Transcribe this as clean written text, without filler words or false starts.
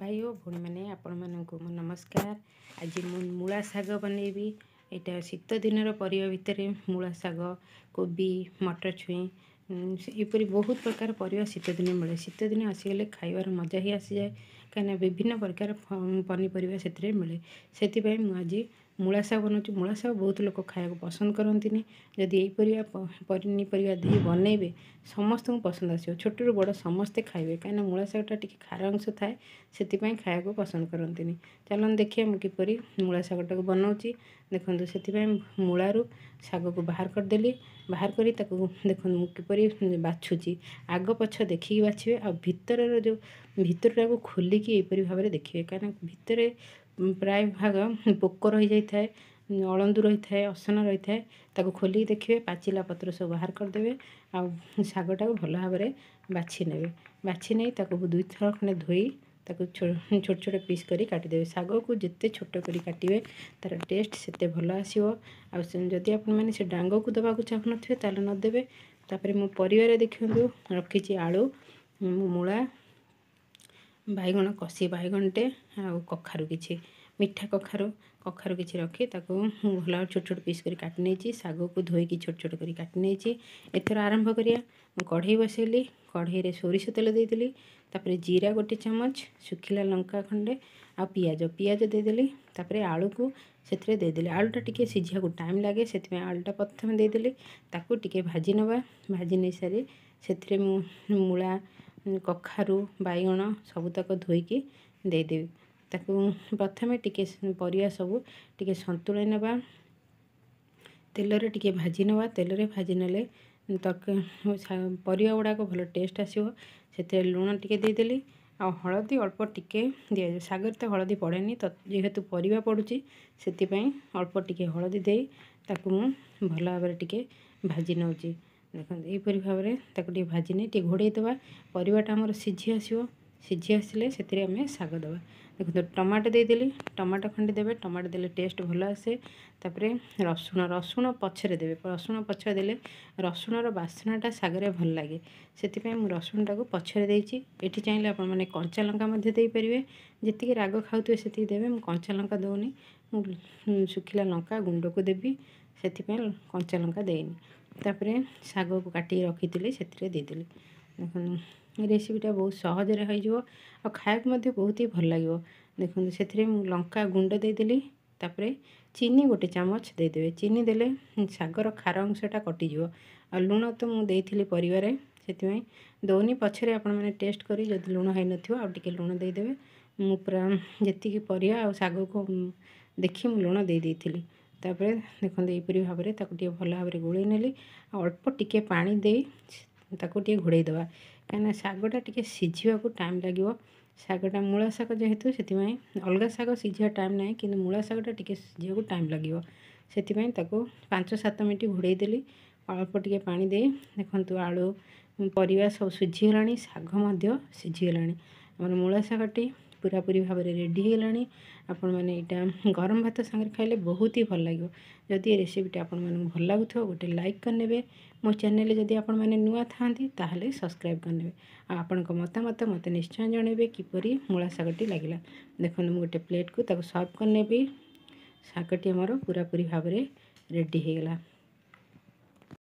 ଭାଇ ଓ ଭଉଣୀମାନେ, ଆପଣମାନଙ୍କୁ ମୋ ନମସ୍କାର। ଆଜି ମୁଁ ମୂଳା ଶାଗ ବନେଇବି। ଏଇଟା ଶୀତ ଦିନର ପରିବା ଭିତରେ ମୂଳା ଶାଗ, କୋବି, ମଟର ଛୁଇଁ, ଏପରି ବହୁତ ପ୍ରକାର ପରିବା ଶୀତ ଦିନେ ମିଳେ। ଶୀତ ଦିନ ଆସିଗଲେ ଖାଇବାର ମଜା ହିଁ ଆସିଯାଏ, କାହିଁକିନା ବିଭିନ୍ନ ପ୍ରକାର ପନିପରିବା ସେଥିରେ ମିଳେ। ସେଥିପାଇଁ ମୁଁ ଆଜି ମୂଳା ଶାଗ ବନାଉଛି। ମୂଳା ଶାଗ ବହୁତ ଲୋକ ଖାଇବାକୁ ପସନ୍ଦ କରନ୍ତିନି। ଯଦି ଏଇ ପରିବା ପନିପରିବା ଦେଇ ବନେଇବେ, ସମସ୍ତଙ୍କୁ ପସନ୍ଦ ଆସିବ। ଛୋଟରୁ ବଡ଼ ସମସ୍ତେ ଖାଇବେ, କାହିଁକିନା ମୂଳା ଶାଗଟା ଟିକେ ଖାର ଅଂଶ ଥାଏ, ସେଥିପାଇଁ ଖାଇବାକୁ ପସନ୍ଦ କରନ୍ତିନି। ଚାଲନ୍ତୁ ଦେଖିବା ମୁଁ କିପରି ମୂଳା ଶାଗଟାକୁ ବନାଉଛି। ଦେଖନ୍ତୁ, ସେଥିପାଇଁ ମୂଳାରୁ ଶାଗକୁ ବାହାର କରିଦେଲି। ବାହାର କରି ତାକୁ ଦେଖନ୍ତୁ ମୁଁ କିପରି ବାଛୁଛି। ଆଗ ପଛ ଦେଖିକି ବାଛିବେ ଆଉ ଭିତରର ଯେଉଁ ଭିତରଟାକୁ ଖୋଲିକି ଏହିପରି ଭାବରେ ଦେଖିବେ, କାହିଁକିନା ଭିତରେ ପ୍ରାୟ ଭାଗ ପୋକ ରହିଯାଇଥାଏ, ଅଳନ୍ଧୁ ରହିଥାଏ, ଅସନା ରହିଥାଏ। ତାକୁ ଖୋଲିକି ଦେଖିବେ, ପାଚିଲା ପତ୍ର ସବୁ ବାହାର କରିଦେବେ ଆଉ ଶାଗଟାକୁ ଭଲ ଭାବରେ ବାଛି ନେବେ। ବାଛି ନେଇ ତାକୁ ଦୁଇଥର ଖଣ୍ଡେ ଧୋଇ ତାକୁ ଛୋଟ ଛୋଟ ପିସ୍ କରି କାଟିଦେବେ। ଶାଗକୁ ଯେତେ ଛୋଟ କରି କାଟିବେ, ତା'ର ଟେଷ୍ଟ ସେତେ ଭଲ ଆସିବ। ଆଉ ଯଦି ଆପଣମାନେ ସେ ଡାଙ୍ଗକୁ ଦେବାକୁ ଚାହୁଁନଥିବେ, ତାହେଲେ ନ ଦେବେ। ତାପରେ ମୁଁ ପରିବାରେ ଦେଖନ୍ତୁ ରଖିଛି ଆଳୁ, ମୂଳା, ବାଇଗଣ, କଷି ବାଇଗଣଟେ ଆଉ କଖାରୁ କିଛି, ମିଠା କଖାରୁ, କଖାରୁ କିଛି ରଖି ତାକୁ ମୁଁ ଭଲ ଛୋଟ ଛୋଟ ପିସ୍ କରି କାଟି ନେଇଛି। ଶାଗକୁ ଧୋଇକି ଛୋଟ ଛୋଟ କରି କାଟି ନେଇଛି। ଏଥର ଆରମ୍ଭ କରିବା। ମୁଁ କଢ଼େଇ ବସେଇଲି। କଢ଼େଇରେ ସୋରିଷ ତେଲ ଦେଇଦେଲି। ତାପରେ ଜିରା ଗୋଟେ ଚାମଚ, ଶୁଖିଲା ଲଙ୍କା ଖଣ୍ଡେ ଆଉ ପିଆଜ ଦେଇଦେଲି। ତାପରେ ଆଳୁକୁ ସେଥିରେ ଦେଇଦେଲି। ଆଳୁଟା ଟିକେ ସିଝିବାକୁ ଟାଇମ୍ ଲାଗେ, ସେଥିପାଇଁ ଆଳୁଟା ପ୍ରଥମେ ଦେଇଦେଲି। ତାକୁ ଟିକେ ଭାଜି ନେବା। ଭାଜି ନେଇସାରି ସେଥିରେ ମୁଁ ମୂଳା, କଖାରୁ, ବାଇଗଣ ସବୁତକ ଧୋଇକି ଦେଇଦେବି। ତାକୁ ପ୍ରଥମେ ଟିକେ ପରିବା ସବୁ ଟିକେ ସନ୍ତୁଳି ନେବା, ତେଲରେ ଟିକେ ଭାଜି ନେବା। ତେଲରେ ଭାଜି ନେଲେ ତରକାରୀ ପରିବା ଗୁଡ଼ାକ ଭଲ ଟେଷ୍ଟ ଆସିବ। ସେଥିରେ ଲୁଣ ଟିକେ ଦେଇଦେଲି ଆଉ ହଳଦୀ ଅଳ୍ପ ଟିକେ ଦିଆଯିବ। ଶାଗରେ ତ ହଳଦୀ ପଡ଼େନି, ତ ଯେହେତୁ ପରିବା ପଡ଼ୁଛି, ସେଥିପାଇଁ ଅଳ୍ପ ଟିକେ ହଳଦୀ ଦେଇ ତାକୁ ମୁଁ ଭଲ ଭାବରେ ଟିକେ ଭାଜି ନେଉଛି। ଦେଖନ୍ତୁ, ଏହିପରି ଭାବରେ ତାକୁ ଟିକେ ଭାଜି ନେଇ ଟିକେ ଘୋଡ଼େଇ ଦେବା। ପରିବାଟା ଆମର ସିଝି ଆସିବ। ସିଝି ଆସିଲେ ସେଥିରେ ଆମେ ଶାଗ ଦେବା। ଦେଖନ୍ତୁ, ଟମାଟୋ ଦେଇଦେଲି। ଟମାଟୋ ଖଣ୍ଡେ ଦେବେ। ଟମାଟୋ ଦେଲେ ଟେଷ୍ଟ ଭଲ ଆସେ। ତାପରେ ରସୁଣ, ରସୁଣ ପଛରେ ଦେବେ। ରସୁଣ ପଛରେ ଦେଲେ ରସୁଣର ବାସ୍ନାଟା ଶାଗରେ ଭଲ ଲାଗେ, ସେଥିପାଇଁ ମୁଁ ରସୁଣଟାକୁ ପଛରେ ଦେଇଛି। ଏଠି ଚାହିଁଲେ ଆପଣମାନେ କଞ୍ଚା ଲଙ୍କା ମଧ୍ୟ ଦେଇପାରିବେ। ଯେତିକି ରାଗ ଖାଉଥିବେ ସେତିକି ଦେବେ। ମୁଁ କଞ୍ଚା ଲଙ୍କା ଦେଉନି, ମୁଁ ଶୁଖିଲା ଲଙ୍କା ଗୁଣ୍ଡକୁ ଦେବି, ସେଥିପାଇଁ କଞ୍ଚା ଲଙ୍କା ଦେଇନି। ତାପରେ ଶାଗକୁ କାଟିକି ରଖିଥିଲି, ସେଥିରେ ଦେଇଦେଲି। ଦେଖନ୍ତୁ, ରେସିପିଟା ବହୁତ ସହଜରେ ହୋଇଯିବ ଆଉ ଖାଇବାକୁ ମଧ୍ୟ ବହୁତ ହି ଭଲ ଲାଗିବ। ଦେଖନ୍ତୁ, ସେଥିରେ ମୁଁ ଲଙ୍କା ଗୁଣ୍ଡ ଦେଇଦେଲି। ତାପରେ ଚିନି ଗୋଟେ ଚାମଚ ଦେଇଦେବେ। ଚିନି ଦେଲେ ଶାଗର ଖାର ଅଂଶଟା କଟିଯିବ। ଆଉ ଲୁଣ ତ ମୁଁ ଦେଇଥିଲି ପରିବାରେ, ସେଥିପାଇଁ ଦେଉନି। ପଛରେ ଆପଣମାନେ ଟେଷ୍ଟ କରି ଯଦି ଲୁଣ ହେଇନଥିବ, ଆଉ ଟିକେ ଲୁଣ ଦେଇଦେବେ। ମୁଁ ପୁରା ଯେତିକି ପରିବା ଆଉ ଶାଗକୁ ଦେଖି ମୁଁ ଲୁଣ ଦେଇ ଦେଇଥିଲି। ତାପରେ ଦେଖନ୍ତୁ, ଏହିପରି ଭାବରେ ତାକୁ ଟିକେ ଭଲ ଭାବରେ ଗୋଳେଇ ନେଲି ଆଉ ଅଳ୍ପ ଟିକେ ପାଣି ଦେଇ ତାକୁ ଟିକେ ଘୋଡ଼େଇ ଦେବା, କାହିଁକିନା ଶାଗଟା ଟିକେ ସିଝିବାକୁ ଟାଇମ୍ ଲାଗିବ। ଶାଗଟା ମୂଳା ଶାଗ ଯେହେତୁ, ସେଥିପାଇଁ ଅଲଗା ଶାଗ ସିଝିବା ଟାଇମ୍ ନାହିଁ, କିନ୍ତୁ ମୂଳା ଶାଗଟା ଟିକେ ସିଝିବାକୁ ଟାଇମ୍ ଲାଗିବ। ସେଥିପାଇଁ ତାକୁ 5-7 ମିନିଟ୍ ଘୋଡ଼େଇ ଦେଲି ଅଳ୍ପ ଟିକେ ପାଣି ଦେଇ। ଦେଖନ୍ତୁ, ଆଳୁ ପରିବା ସବୁ ସିଝିଗଲାଣି, ଶାଗ ମଧ୍ୟ ସିଝିଗଲାଣି। ଆମର ମୂଳା ଶାଗଟି ପୁରାପୁରି ଭାବରେ ରେଡ଼ି ହେଇଗଲାଣି। ଆପଣମାନେ ଏଇଟା ଗରମ ଭାତ ସାଙ୍ଗରେ ଖାଇଲେ ବହୁତ ହି ଭଲ ଲାଗିବ। ଯଦି ଏ ରେସିପିଟା ଆପଣମାନଙ୍କୁ ଭଲ ଲାଗୁଥିବ, ଗୋଟେ ଲାଇକ୍ କରିନେବେ। ମୋ ଚ୍ୟାନେଲରେ ଯଦି ଆପଣମାନେ ନୂଆ ଥାଆନ୍ତି, ତାହେଲେ ସବସ୍କ୍ରାଇବ୍ କରିନେବେ ଆଉ ଆପଣଙ୍କ ମତାମତ ମୋତେ ନିଶ୍ଚୟ ଜଣାଇବେ କିପରି ମୂଳା ଶାଗଟି ଲାଗିଲା। ଦେଖନ୍ତୁ, ମୁଁ ଗୋଟେ ପ୍ଲେଟ୍କୁ ତାକୁ ସର୍ଭ କରିନେବି। ଶାଗଟି ଆମର ପୁରାପୁରି ଭାବରେ ରେଡ଼ି ହେଇଗଲା।